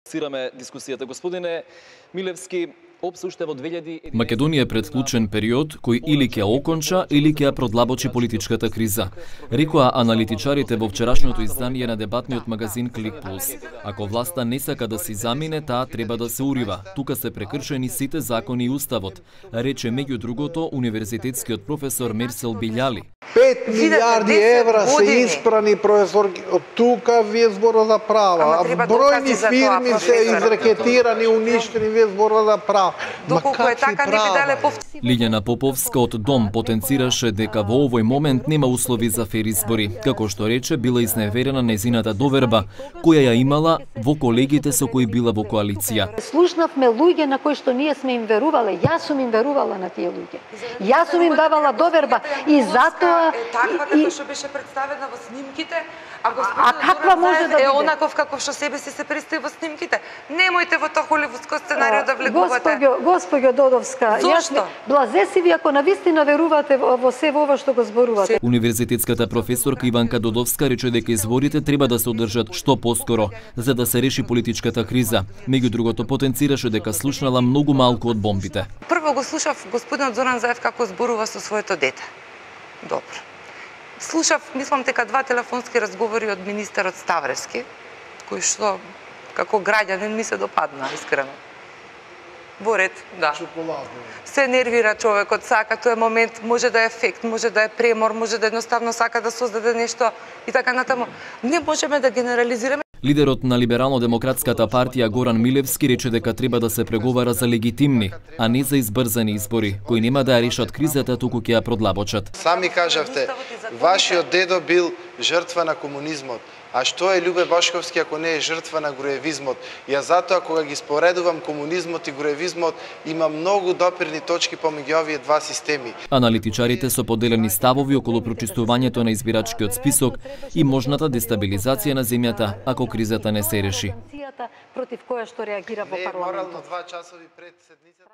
Сираме дискусијата. Господине Милевски, ОПС уште во 2000... Македонија е пред клучен период кој или ќе оконча, или ќе ја продлабочи политичката криза, рекоа аналитичарите во вчерашното издание на дебатниот магазин Клик Плюс. Ако власта не сака да си замине, таа треба да се урива. Тука се прекршени сите закони и уставот, рече меѓу другото универзитетскиот професор Мерсел Билјали. 5 милиарди евра се испрани, професор, од тука вие збора за права. Бројни фирми се изрекетирани, уништени, вие збора за права. Доколку е така, не би дале Лиљана Поповска од Дом потенцираше дека во овој момент нема услови за фер избори. Како што рече, била изневерена нејзината доверба, која ја имала во колегите со кои била во коалиција. Слушнавме луѓе на кои што ние сме им верувале. Јас сум им верувала на тие луѓе. Јас сум им давала доверба и затоа таква како што беше представена во снимките, а каква може да биде? Е онаков каков што себе си се представи во снимките. Немојте во тоа холивудско сценарио да влегувате. Госпоѓо Додовска, Зошто? Блазе си ви ако навистина верувате во се ова што го зборувате. Универзитетската професорка Иванка Додовска рече дека изборите треба да се одржат што поскоро, за да се реши политичката криза. Меѓу другото потенцираше дека слушнала многу малку од бомбите. Прво го слушав господинот Зоран Заев како зборува со своето дете. Добро. Слушав, мислам дека 2 телефонски разговори од министерот Ставревски, кои што како граѓанин ми се допадна, искрено. Во ред, да. Се нервира човекот, сака, тој момент може да е ефект, може да е премор, може да едноставно сака да создаде нешто и така натаму. Не можеме да генерализираме. Лидерот на Либерално-демократската партија Горан Милевски рече дека треба да се преговара за легитимни, а не за избрзани избори, кои нема да ја решат кризата, туку ќе ја продлабочат. Сами кажавте, вашиот дедо бил жртва на комунизмот. А што е Љубе Бошковски ако не е жртва на груевизмот? Ја затоа кога ги споредувам комунизмот и груевизмот, има многу допирни точки помеѓу овие два системи. Аналитичарите со поделени ставови околу прочистувањето на избирачкиот список и можната дестабилизација на земјата ако кризата не се реши. Против која што реагира во парламентот. Морално 2 часови пред седницата.